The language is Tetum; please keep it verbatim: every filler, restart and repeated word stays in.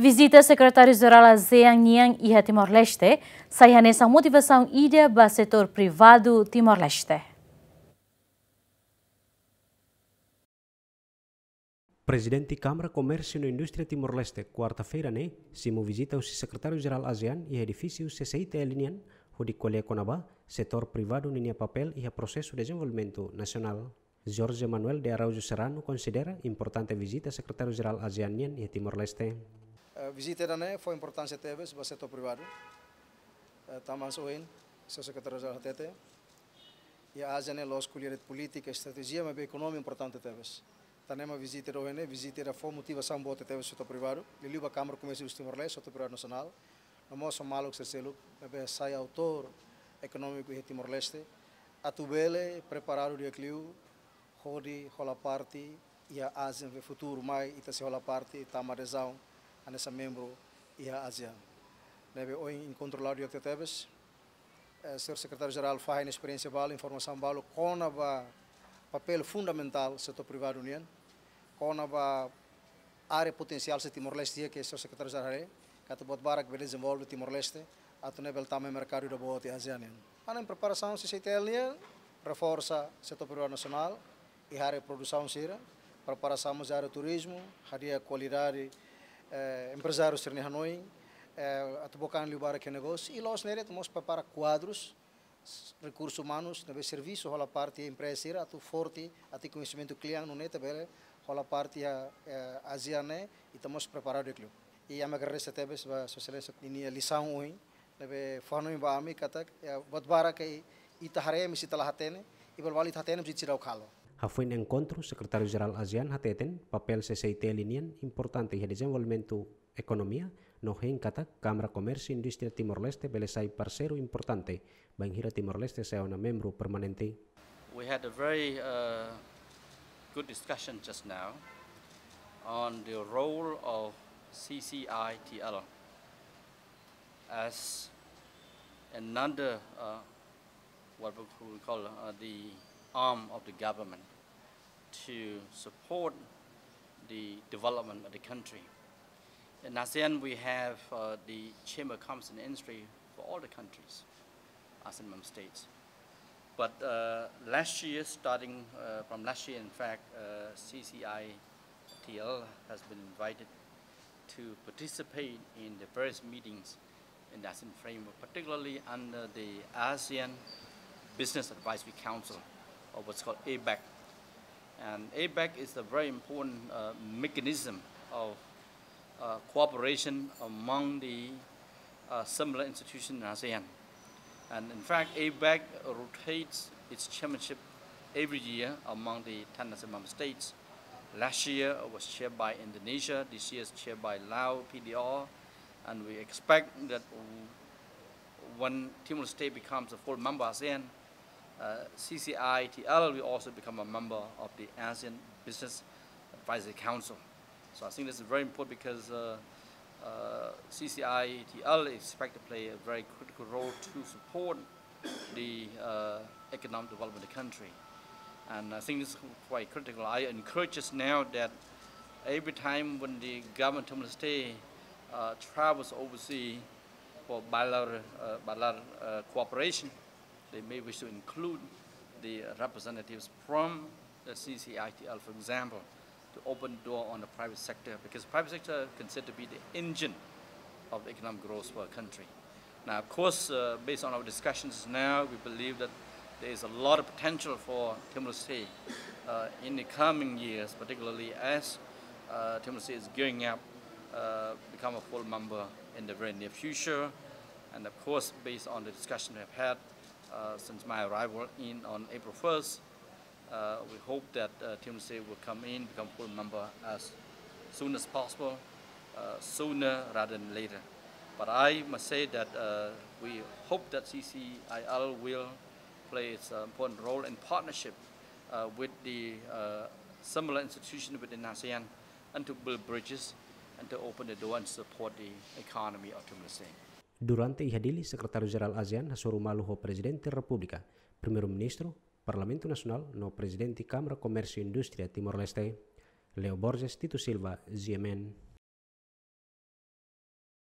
Vizita Sekretáriu-Jerál ASEAN nian iha Timor-Leste sai hanesan motivasaun ida ba setór privadu Timor-Leste. Prezidente Kámara Komérsiu no Indústria Timor-Leste, kuarta-feira ne'e, simu vizita husi Sekretáriu-Jerál ASEAN iha edifísiu C C I T L nian, hodi ko'alia kona-ba setór privadu ninia papél iha prosesu dezenvolvimentu nasionál. Jorge Manuel de Araújo Serrano konsidera importante vizita Sekretáriu-Jerál ASEAN nian iha Timor-Leste. Eh, vizita ida-ne'e fó importánsia tebes ba setór privadu. Eh, tanba ohin, Señór Sekretáriu-Jerál hatete, iha ASEAN ne'e la'ós ko'alia de'it polítika, estratéjia, maibé ekonomia importante tebes. Tan ne'e mak vizita ida ohin ne'e, vizita ida fó motivasaun boot tebes setór privadu, liuliu ba Kámara Komérsiu Timor-Leste, setór privadu nasionál, no mós maluk sira seluk ne'ebé sai autór ekonómiku iha Timor-Leste, atu bele preparadu di'ak liu hodi hola parte iha ASEAN, futuru mai ita sei hola parte tama adezaun hanesan membru iha ASEAN. Ne'ebé ohin enkontru la'o di'ak tebes, eh, Señór Sekretáriu-Jerál fahe nia esperiénsia balu, informasaun balu kona-ba papél fundamentál setór privadu nian, kona-ba área potensiál sira Timor-Leste iha, ke Señór Sekretáriu-Jerál haree katak buat barak bele dezenvolve Timor-Leste, atu nune'e bele tama merkadu ida boot iha ASEAN nian. Hanesan preparasaun C C I T L nian, reforsa setór privadu nasionál iha área produsaun sira, preparasaun mós área turizmu, hadi'a kualidade, eh, emprezáriu sira-nia hanoin, eh, atu book an liu barak iha negósiu, i la'ós ne'e de'it, atu mós prepara kuadrus, s-, rekursus umanus ne'ebé servisu hola parte iha empreza sira atu forte, atu koñesimentu kle'an nune'e ita bele hola parte iha, eh, ASEAN ne'e, ita mós preparadu di'ak liu. I ami agradese tebes ba Sua Exelénsia ninia lisaun ohin, ne'ebé fó hanoin ba ami katak, eh, buat barak ke ita haree maibé ita la hatene, i balu balu ita hatene maibé ita seidauk halo. Hafoin enkontru, Sekretáriu-Jerál ASEAN hateten papél C C I T L nian importante iha dezenvolvimentu ekonomia, no hein katak Kámara Komérsiu Indústria Timor-Leste bele sai parseiru importante bainhira Timor-Leste sai ona membru permanente. We had a very, uh, good discussion just now on the role of C C I T L as another, uh, what we call, uh, the arm of the government to support the development of the country. In ASEAN, we have, uh, the Chamber of Commerce and Industry for all the countries, ASEAN member states. But, uh, last year, starting, uh, from last year, in fact, uh, C C I T L has been invited to participate in the various meetings in the ASEAN framework, particularly under the ASEAN Business Advisory Council, or what's called ABAC. And ABAC is a very important, uh, mechanism of, uh, cooperation among the, uh, similar institutions in ASEAN. And in fact, ABAC rotates its chairmanship every year among the ten ASEAN member states. Last year it was chaired by Indonesia, this year is chaired by Laos, P D R, and we expect that w-, when Timor-Leste becomes a full member ASEAN, uh, C C I T L will also become a member of the ASEAN Business Advisory Council. So I think this is very important because, uh, uh, C C I T L is expected to play a very critical role to support the, uh, economic development of the country. And I think this is quite critical. I encourage us now that every time when the government of Timor-Leste, uh, travels overseas for bilateral, uh, bilateral, uh, cooperation, they may wish to include the representatives from the C C I T L, for example, to open the door on the private sector, because private sector considered to be the engine of economic growth for a country. Now, of course, uh, based on our discussions now, we believe that there is a lot of potential for Timor-Leste, uh, in the coming years, particularly as, uh, Timor-Leste is gearing up, uh, become a full member in the very near future. And of course, based on the discussion we have had, uh, since my arrival in on April first, uh, we hope that, uh, Timor-Leste will come in, become full member as soon as possible, uh, sooner rather than later. But I must say that, uh, we hope that C C I L will play its, uh, important role in partnership, uh, with the, uh, similar institution within ASEAN and to build bridges and to open the door and support the economy of Timor-Leste. Durante iha Dili, Sekretáriu-Jerál ASEAN hasoru malu ho Prezidente Repúblika, Primeiru-Ministru, Parlamentu Nasionál no Prezidente Kámara Komérsiu Indústria Timor-Leste. Leo Borges, Tito Silva, G M N.